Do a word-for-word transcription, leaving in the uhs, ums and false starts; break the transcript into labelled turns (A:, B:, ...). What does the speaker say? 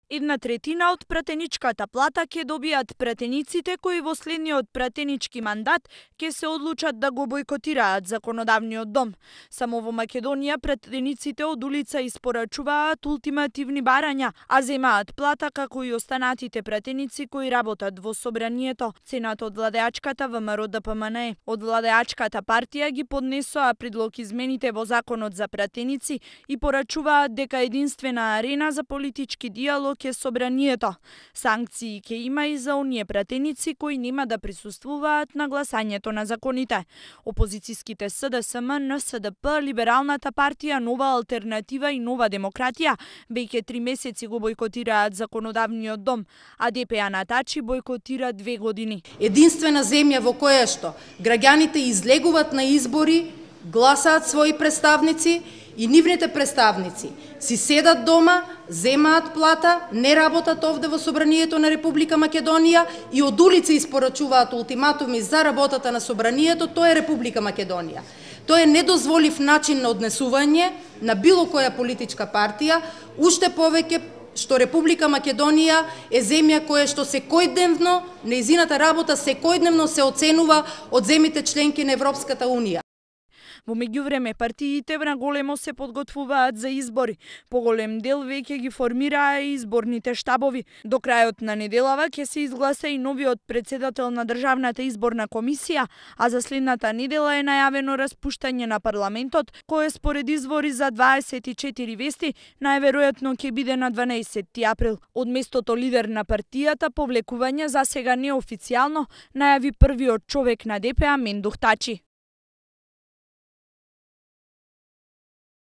A: Една третина од пратеничката плата ќе добијат пратениците кои во следниот пратенички мандат ќе се одлучат да го бойкотираат законодавниот дом. Само во Македонија пратениците од улица испорачуваат ултимативни барања, а земаат плата како и останатите пратеници кои работат во собранието. Цената од владеачката ВМРО Д П М Н Е. Од владеачката партија ги поднесоа предлог измените во законот за пратеници и порачуваат дека единствена арена за политички диалог е собранието. Санкции ќе има и за оние пратеници кои нема да присуствуваат на гласањето на законите. Опозицијските С Д С М, Н С Д П, Либералната партија, Нова алтернатива и Нова демократија веќе три месеци го бойкотираат законодавниот дом, а Д П А на Тачи бойкотира две години.
B: Единствена земја во која што граѓаните излегуваат на избори, гласаат своји представници и нивните представници си седат дома, земаат плата, не работат овде во Собранието на Република Македонија и од улица испорачуваат ултиматуми за работата на Собранието, тоа е Република Македонија. Тоа е недозволив начин на однесување на било која политичка партија, уште повеќе што Република Македонија е земја која што секојдневно, нејзината работа секојдневно се оценува од земите членки на Европската Унија.
A: Во меѓувреме партиите на големо се подготвуваат за избори. Поголем дел веќе ги формираа изборните штабови. До крајот на неделава ќе се изгласа и новиот председател на Државната изборна комисија, а за следната недела е најавено распуштање на парламентот, кое според извори за дваесет и четири вести најверојатно ќе биде на дванаесетти април. Од местото лидер на партијата повлекување за сега неофицијално најави првиот човек на Д П А Мендух Тачи.